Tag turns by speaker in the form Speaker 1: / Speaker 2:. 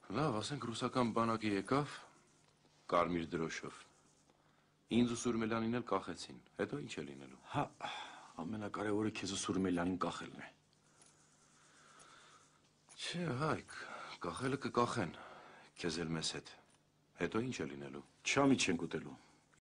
Speaker 1: Լավ, ասենք ռուսական բանակը եկավ կարմիր դրոշով։ Ինձ ու Սուրմելյանին էլ կախեցին, հետո ինչ է լինելու։
Speaker 2: Հա, ամենակարևորը քեզ ու Սուրմելյանին կախելն է։
Speaker 1: Չէ, Հայկ, կախելը կկախեն, քեզ էլ մեզ հետ, հետո ինչ է լինելու։
Speaker 2: Չամիջ չենք ուտելու։